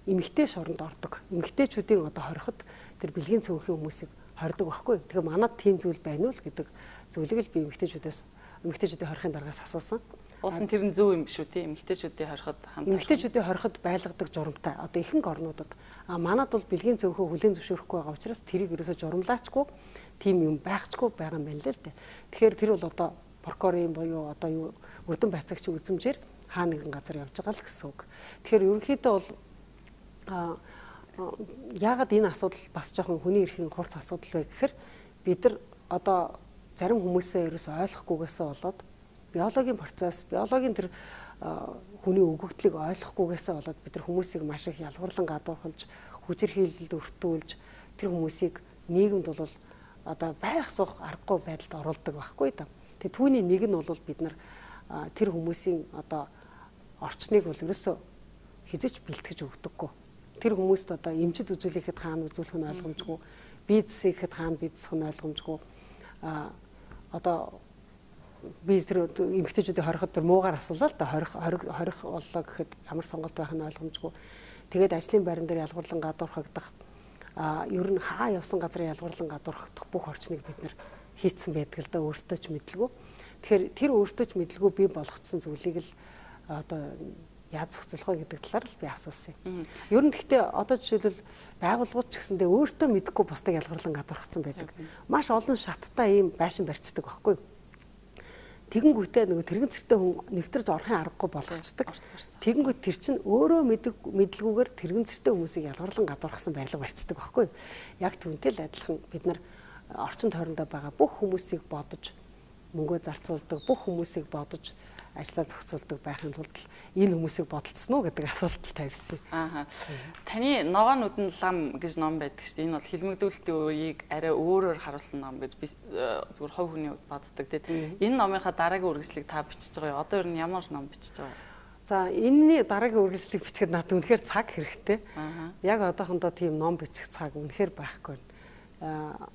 эмэгтэй шоронд ордог. Эмэгтэйчүүдийн одоо хориход тэр бэлгийн цөөхөн хүмүүсийг хордог байхгүй. Тэгэхээр манад тийм зүйл байна уу гэдэг зүйлийг л би эмэгтэйчүүдээс эмэгтэйчүүдийн хорихын дараагаас асуусан. Уул нь тэр нь зөв юм шүү тий. Эмэгтэйчүүдийн хориход хамт эмэгтэйчүүдийн хориход байлгадаг журамтай. Одоо ихэнх орнуудад а манад бол бэлгийн цөөхөө хүлээн зөвшөөрөхгүй байгаа учраас тэрийг ерөөсө журамлаачгүй тийм юм байхчгүй байгаа юм байна л дээ. Тэгэхээр тэр бол одоо прокурорын буюу одоо юу мөрдөн байцаагчийн үзмжээр хаа нэгэн газар явж байгаа л гэсэн үг. Тэгэхээр ерөнхийдөө бол а яагаад энэ асуудал бас жоохон хүний эрхийн хурц асуудал вэ гэхээр бид нар одоо зарим хүмүүсээ ерөөс ойлгохгүйгээсээ болоод биологийн процесс, биологийн тэр хүний өгөгдлийг ойлгохгүйгээсээ болоод бид нар хүмүүсийг маш их ялгуурлан гадуурхалж, хүчирхийлэлд өртүүлж тэр хүмүүсийг нийгэмд бол одоо байх суух аргагүй байдалд оруулдаг байхгүй да. Тэгээ түүний нэг нь бол бид нар тэр хүмүүсийн одоо орчныг бол ерөөсөө хизээч бэлтгэж өгдөггүй. Тэр хүмүүст одоо эмчид үзүүлэхэд хаана үзүүлэх нь ойлгомжгүй, бизнесэхэд хаана бизнесх нь ойлгомжгүй. А одоо biz тэр эмгтээчүүдийн хориход тэр муугаар асуулаа л да хорих хорих боллоо гэхэд ямар сонголт байх нь ойлгомжгүй. Тэгээд ажлын байран дээр ялгуурлан гадуурхагдах а ер нь хаа явсан газар ялгуурлан гадуурхагдах бүх орчныг бид нэр хийцэн байдаг л да өөртөө ч мэдлгүй. Тэгэхээр тэр өөртөө ч мэдлгүй би болгоцсон зүйлийг л одоо яаж зохицуулах вэ гэдэг талаар л би асуусан юм. Ер нь гэхдээ одоо жишээлбэл байгууллагууд ч гэсэндээ өөртөө мэдэхгүй бусдыг ялгуурлан гадуурхацсан байдаг. Маш олон шаттай ийм байшин барьцдаг байхгүй. Тэгэнгүүтээ нөгөө тэрэгэн цэртэй хүн нэвтэрж орохын аргагүй болгочдөг. Тэгэнгүүт тэр чинь өөрөө мэдэг мэдлгүйгээр тэрэгэн цэртэй хүмүүсийг ялгуурлан гадуурхсан байрлал барьцдаг байхгүй. Яг түүнтэй л адилхан бид нар орчин тойрондоо байгаа бүх хүмүүсийг бодож мөнгөө зарцуулдаг, бүх хүмүүсийг бодож ажлаа зохицуулдаг байхын тулд энэ хүмүүсийг бодолцсон уу гэдэг асуулт тавьсан. Аа. Таны ногоо нүдэн лам гэж ном байдаг шүү дээ. Энэ бол хилмигдүүлэлтийн үеийг арай өөрөөр харуулсан ном гэж би зүгээр хувь хүний боддог тийм. Энэ номынхаа дараагийн үргэлжлэлийг та бичиж байгаа юу? Одоо ер нь ямар ном бичиж байгаа вэ? За энэний дараагийн үргэлжлэлийг бичихэд надад үнэхээр цаг хэрэгтэй. Яг одоохондоо тийм ном бичих цаг үнэхээр байхгүй байна.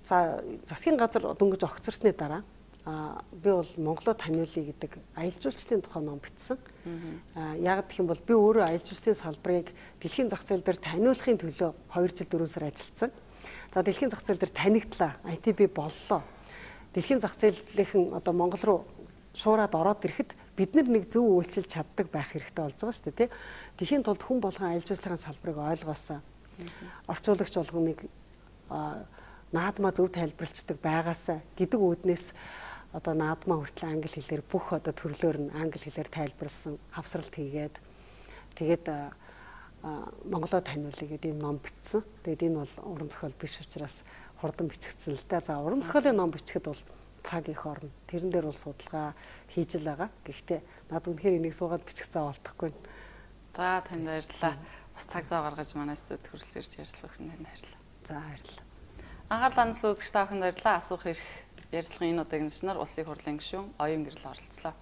За засгийн газар дөнгөж огцорсны дараа а би бол Монголоо таниулъя гэдэг аялал жуулчлалын тухай ном бичсэн. А яг гэх юм бол би өөрөө аялал жуулчлалын салбарыг дэлхийн зах зээл дээр таниулахын төлөө хоёр жил дөрвөн сар ажилласан. За дэлхийн зах зээл дээр танигдлаа, ай ти би боллоо. Дэлхийн зах зээлийнхэн одоо Монгол руу шуураад ороод ирэхэд бид нар нэг зөв үйлчилж чаддаг байх хэрэгтэй болж байгаа шүү дээ, тий. Тэхийн тулд хүн болгон аялал жуулчлалын салбарыг ойлгоосаа орчуулагч болгоныг наадмаа зөв тайлбарлцдаг байгаасаа гэдэг үүднээс одоо наадмаа хүртэл англи хэлээр бүх одоо төрлөөр нь англи хэлээр тайлбарлсан хавсралт хийгээд тэгээд Монголоо таниулъя гэдэг юм ном бичсэн. Тэгээд энэ бол уран зохиол биш учраас хурдан бичигдсэн л да. За уран зохиолын ном бичихэд бол цаг их орно. Тэрэн дээр бол судалгаа хийж л байгаа. Гэхдээ над үнэхээр энийг суугаад бичих зав олдохгүй. За танд баярлалаа. Бас цаг зав гаргаж манай студид хүрэлцээрч ярилцлага өгсөн танд баярлалаа. За баярлалаа. Анхаарлаа үзэгч та бүхэнд баярлалаа. Асуух хэрэг ярилцлагын энэ удаагийн зочноор улсын хурлын гишүүн Оюун Гэрэл оролцлоо.